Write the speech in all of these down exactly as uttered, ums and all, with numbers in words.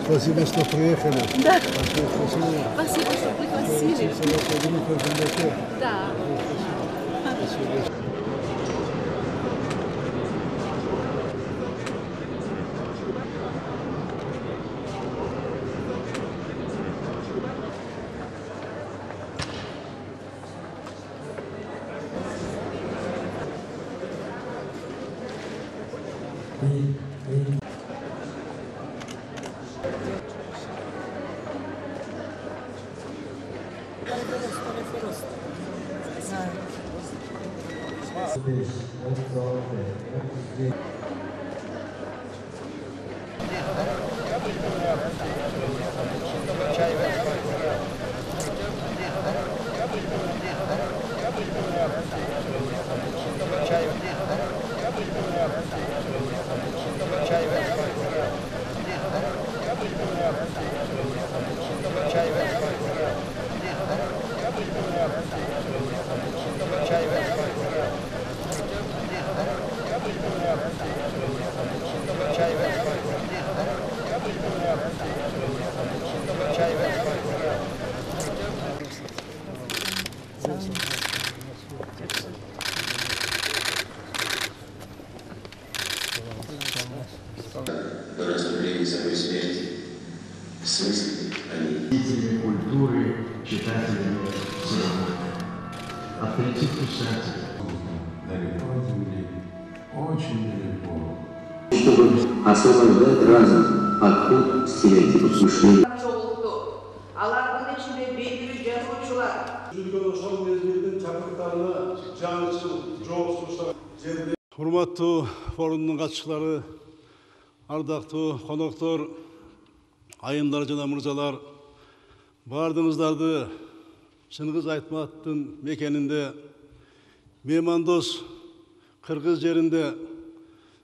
Спасибо, что приехали. Да. Спасибо. Спасибо, что пригласили. Да. Спасибо. До наступления самой смерти. В смысле они? Деятелями культуры, читателями cinema. Авторитет писателя. Далеко от земли, очень далеко. Чтобы освобождать разум от пут стереотипов мышления. Алардын ичинде белгилүү жазуучулар. Жүргөн ошол мезгилдин чакырыктарына жаңычыл жооп сунуштаган жерде. Урматтуу форумдун катчылары, ардактуу коноктор, айымдар жана мырзалар, баардыгыңыздарды Чыңгыз Айтматовдун мекенинде, меймандос Кыргыз жеринде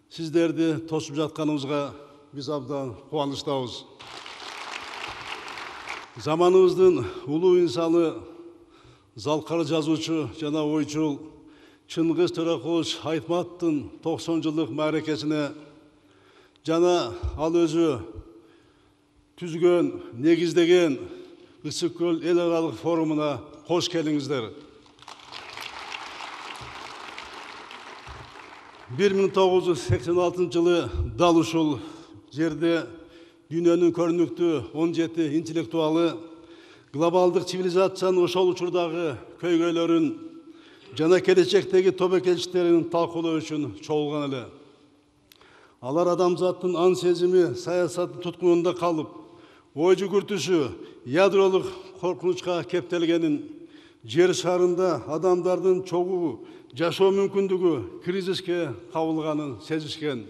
сиздерди тосуп жатканыбызга биз абдан кубанычтабыз. Заманыбыздын улуу инсаны, залкар жазуучу жана ойчул Чыңгыз Төрөкулович Айтматовдун токсон жылдык мааракесине жана ал өзү түзгөн, негиздеген Ысык көл эл аралык форумуна кош келиңиздер. бир миң тогуз жүз сексен алтынчы жылы дал ушул жерде дүйнөнүн көрүнүктүү он жети интеллектуалы глобалдык цивилизациянын ошол учурдагы көйгөйлөрүн жана келечектеги тобокелчиликтерин талкуулоо үчүн чогулган эле. Алар адамзаттын ан сезими саясаттын туткунунда калып, ой жүгүртүшү ядролук коркунучка кептелгенин, жер шарында адамдардын чогуу жашоо мүмкүндүгү кризиске кабылганын сезишкен.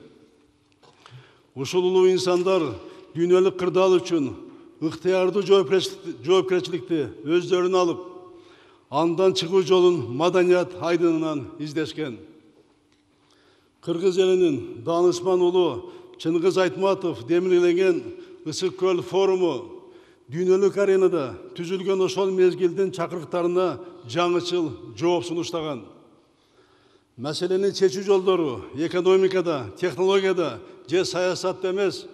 Ушул улуу инсандар дүйнөлүк кырдаал үчүн ыктыярдуу жоопкерчиликти өздөрүнө алып, андан чыгуу жолун маданият айдынынан издешкен. Кыргыз элинин даанышман улу Чыңгыз Айтматов демирленген Ысык көл форуму дүйнөлүк аренада түзүлгөн ошол мезгилдин чакырыктарына жаңычыл жооп сунуштаган. Маселени чечүү жолдору экономикада, технологияда же саясатта эмес,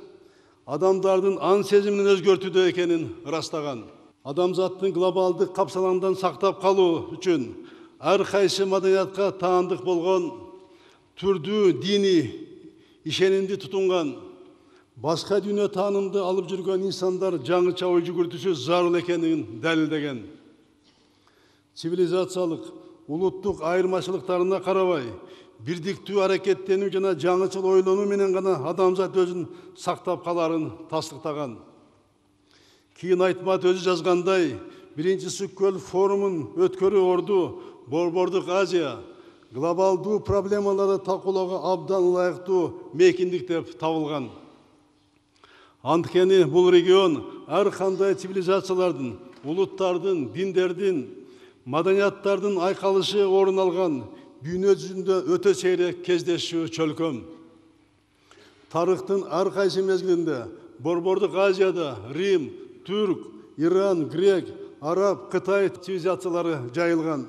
адамдардын ан сезимин өзгөртүүдө экенин ырастаган. Адамзаттын глобалдык капсалаңдан сактап калуу үчүн ар кайсы маданиятка таандык болгон, түрдүү диний ишенимди тутунган, башка дүйнө таанымды алып жүргөн инсандар жаңыча ой жүгүртүшү зарыл экенин далилдеген. Цивилизациялык, улуттук айырмачылыктарына карабай, бирдиктүү аракеттенүү жана жаңычыл ойлонуу менен гана адамзат өзүн сактап каларын тастыктаган. Кийин Айтмат өзү жазгандай, биринчи Ысык көл форумун өткөрүү орду Борбордук Азия глобалдуу проблемаларды талкуулоого абдан ылайыктуу мейкиндик деп табылган. Анткени бул регион ар кандай цивилизациялардын, улуттардын, диндердин, маданияттардын айкалышы орун алган дүйнө жүзүндө өтө сейрек кездешүү чөлкөм. Тарыхтын ар кайсы мезгилинде Борбордук Азияда Рим, Түрк, Иран, Грек, Араб, Кытай цивилизациялары жайылган.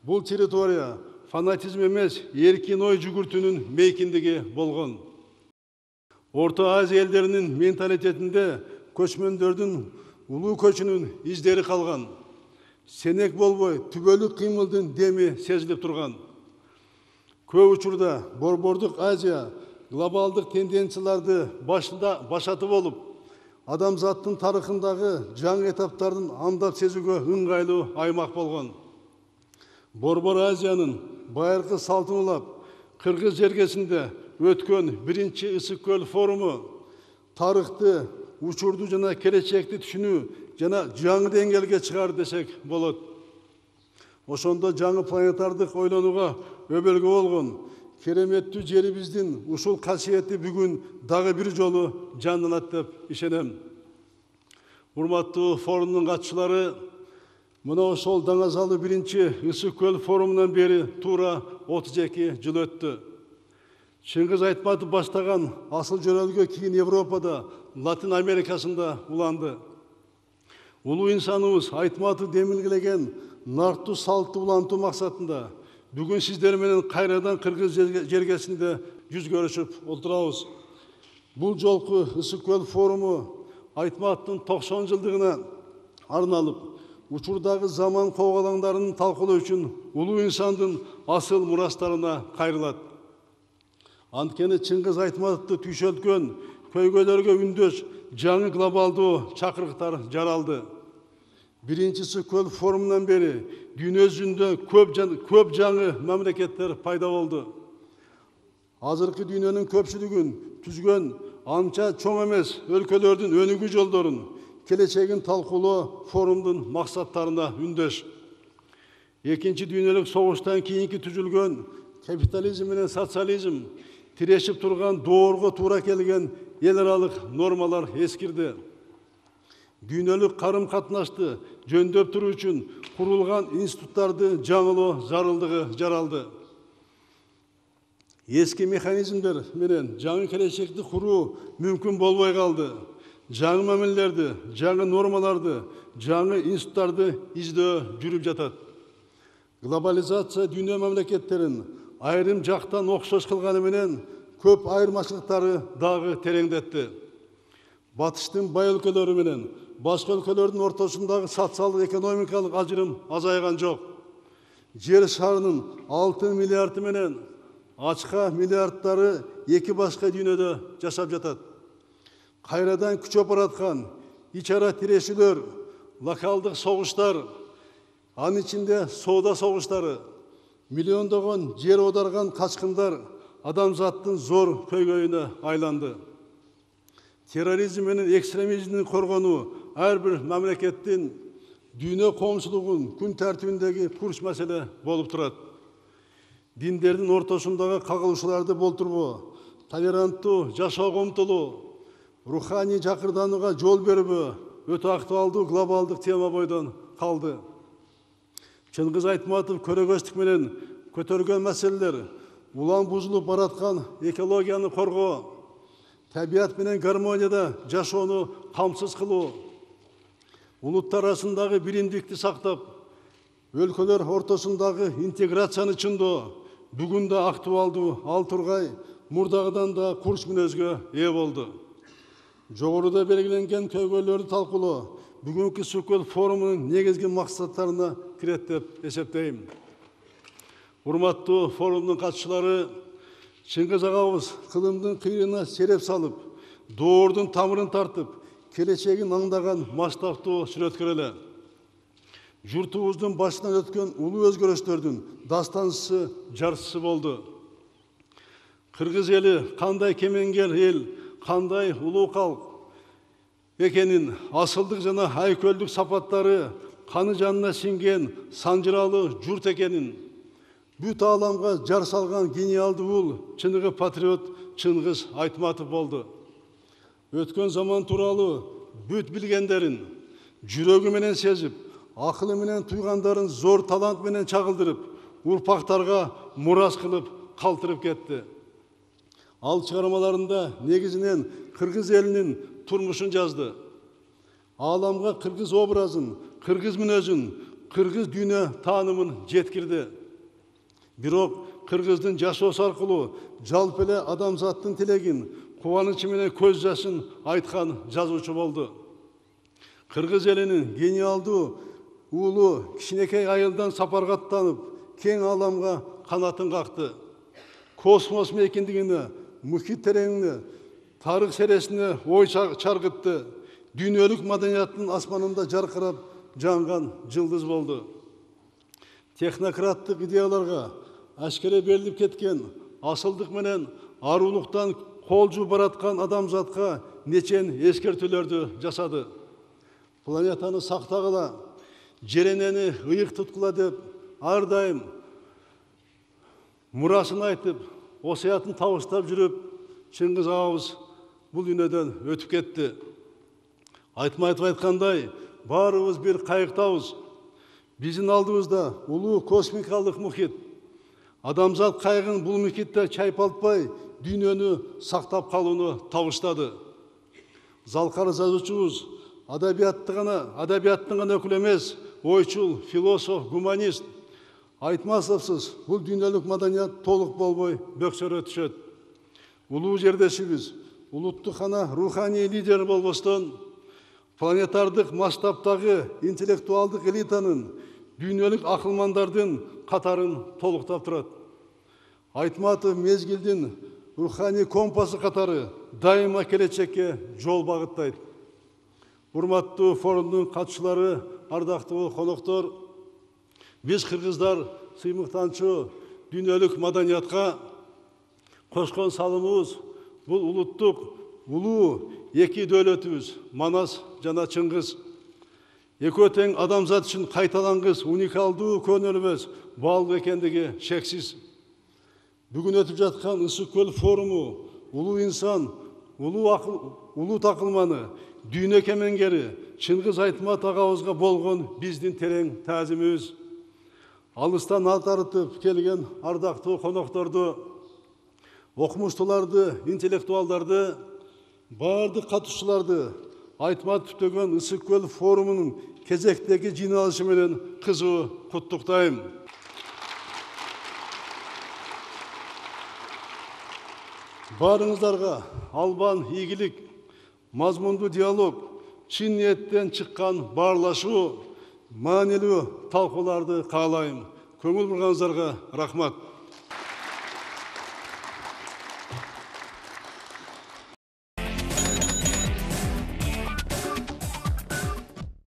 Бул территория фанатизм эмес, эркин ой жүгүртүүнүн мейкиндиги болгон. Орто Азия элдеринин менталитетинде көчмөндөрдүн улуу көчүнүн издери калган. Сенек болбой түбөлүк кыймылдын деми сезилип турган. Көп учурда Борбордук Азия глобалдык тенденцияларды башында башаты болуп, адамзаттын тарыхындагы жаңы этаптардын андап сезүүгө ыңгайлуу аймак болгон. Борбор Азиянын байыркы салтын улап, Кыргыз жергесинде өткөн биринчи Ысык көл форуму тарыхты, учурду жана келечекти түшүнүү жана жаңы деңгээлге чыгар десек болот. Ошондо жаңы планетардык ойлонууга өбөлгө болгон кереметтүү жерибиздин ушул касиети бүгүн дагы бир жолу жанданат деп ишенем. Урматтуу форумдун катчылары, мына ошол даңазалы биринчи Ысык көл форумунан бери туура отуз эки жыл өттү. Чыңгыз Айтматов баштаган асыл жөрөлгө кийин Европада, Латин Америкасында уланды. Улуу инсаныбыз Айтматов демилгелеген нартуу салтты улантуу максатында бүгүн сиздер менен кайрадан Кыргыз жергесинде жүз көрүшүп отурабыз. Бул жолку Ысык көл форуму Айтматовдун токсон жылдыгына арналып, учурдагы заман коогалаңдарын талкуулоо үчүн улуу инсандын асыл мурастарына кайрылат. Анткени Чыңгыз Айтматовду түйшөлткөн көйгөйлөргө үндөш жаңы глобалдуу чакырыктар жаралды. Биринчи Ысык көл форумунан бери дүйнө жүзүндө көп, көп жаңы мамлекеттер пайда болду. Азыркы дүйнөнүн көпчүлүгүн түзгөн анча чоң эмес өлкөлөрдүн өнүгүү жолдорун, келечегин талкуулоо форумдун максаттарына үндөш. Экинчи дүйнөлүк согуштан кийинки түзүлгөн капитализм менен социализм тирешип турган доорго туура келген эл аралык нормалар эскирди. Дүйнөлүк карым катнашты жөндөп туруу үчүн курулган институттарды жаңылоо зарылдыгы жаралды. Эски механизмдер менен жаңы келечекти куруу мүмкүн болбой калды. Жаңы мамилелерди, жаңы нормаларды, жаңы институттарды издөө жүрүп жатат. Глобализация дүйнө мамлекеттерин айрым жактан окшош кылганы менен көп айырмачылыктары дагы тереңдетти. Батыштын бай өлкөлөрү менен башка өлкөлөрдүн ортосундагы социалдык экономикалык ажырым азайган жок. Жер шарынын алты миллиарды менен ачка миллиардтары эки башка дүйнөдө жашап жатат. Кайрадан күчөп бараткан ич ара тирешүүлөр, локалдык согуштар, анын ичинде соода согуштары, миллиондогон жер оодарган качкындар адамзаттын зор көйгөйүнө айланды. Терроризм менен экстремизмдин коргонуу ар бир мамлекеттин дүйнө коомчулугунун күн тартибиндеги курч маселе болуп турат. Диндердин ортосундагы кагылышууларды болтурбоо, толеранттуу жашоого умтулуу, руханий жакырданууга жол бербөө өтө актуалдуу глобалдык тема бойдон калды. Чыңгыз Айтматов көрөгөчтүк менен көтөргөн маселелер улам бузулуп бараткан экологияны коргоо, табият менен гармонияда жашоону камсыз кылуу, улуттар арасындагы биримдикти сактап, өлкөлөр ортосундагы интеграцияны чыңдоо бүгүн да актуалдуу ал тургай мурдагыдан да курч мүнөзгө ээ болду. Жогоруда белгиленген көйгөйлөрдү талкуулоо бүгүнкү Ысык көл форумунун негизги максаттарына кирет деп эсептейм. Урматтуу форумдун катчылары, Чыңгыз агабыз кылымдын кыйрына сереп салып, доордун тамырын тартып, келечегин аңдаган масштабтуу сүрөткөр эле. Журтубуздун башынан өткөн улуу өзгөрүштөрдүн дастанчысы, жарчысы болду. Кыргыз эли кандай кемеңгер эл, кандай улуу калк экенин, асылдык жана айкөлдүк сапаттары каны жанына сиңген санжыралуу журт экенин бүт ааламга жар салган гениалдуу ул чыныгы патриот Чыңгыз Айтматов болду. Өткөн заман тууралуу бүт билгендерин жүрөгү менен сезип, акылы менен туйгандарын зор талант менен чагылдырып, урпактарга мурас кылып калтырып кетти. Ал чыгармаларында негизинен кыргыз элинин турмушун жазды. Ааламга кыргыз образын, кыргыз мүнөзүн, кыргыз дүйнө таанымын жеткирди. Бирок кыргыздын жашоосу аркылуу жалпы эле адамзаттын тилегин, кубанычы менен көз жашын айткан жазуучу болду. Кыргыз элинин гениалдуу уулу кичинекей айылдан сапарга аттанып, кең аламга канатын какты. Космос мейкиндигине, мухит тереңине, тарых сересине ой чаргытты. Дүйнөлүк маданияттын асманында жаркырап жанган жылдыз болду. Технократтык идеяларга ашкере берилип кеткен, асылдык менен арулуктан кол жууп бараткан адамзатка нечен эскертүүлөрдү жасады. Планетаны сактагыла, жеренени ыйык туткула деп ар дайым мурасын айтып, осуятын табыштап жүрүп, Чыңгыз агабыз бул дүйнөдөн өтүп кетти. Айтмайтып айткандай, баарыбыз бир кайыктабыз. Биздин алдыбызда улуу космикалык мухит. Адамзат кайыгын бул мухитте чайпалтпай, дүйнөнү сактап калууну табыштады. Залкар жазуучубуз адабиятты гана, адабияттын гана өкүлү эмес, ойчул, философ, гуманист. Айтмасовсуз бул дүйнөлүк маданият толук болбой бөксөрө түшөт. Улуу жердешибиз, улуттук гана руханий лидер болбостон, планетардык масштабтагы интеллектуалдык элитанын, дүйнөлүк акылмандардын катарын толуктап турат. Айтматов мезгилдин руханий компасы катары дайыма келечекке жол багыттайт. Урматтуу форумдун катчылары, ардактуу коноктор, биз кыргыздар сыймыктанчу дүйнөлүк маданиятка кошкон салымыбыз бул улуттук улуу эки дөөлөтүбүз Манас жана Чыңгыз. Экөө тең адамзат үчүн кайталангыс уникалдуу көнөлбөс баалуу экендиги шексиз. Бүгүн өтүп жаткан Ысык көл форуму улуу инсан, улуу акыл, улуу такылманы, дүйнө кемеңгери Чыңгыз Айтмат агабызга болгон биздин терең таазимибиз. Алыстан ат арытып келген ардактуу конокторду, окумуштууларды, интеллектуалдарды, баардык катышууларды Айтмат түптөгөн Ысык көл форумунун кезектеги жыйналышы менен кызуу куттуктайм. Баарыңыздарга албан ийгилик, мазмундуу диалог, чын ниеттен чыккан баарлашуу, маанилүү талкууларды каалайм. Көңүл бурганыңыздарга рахмат.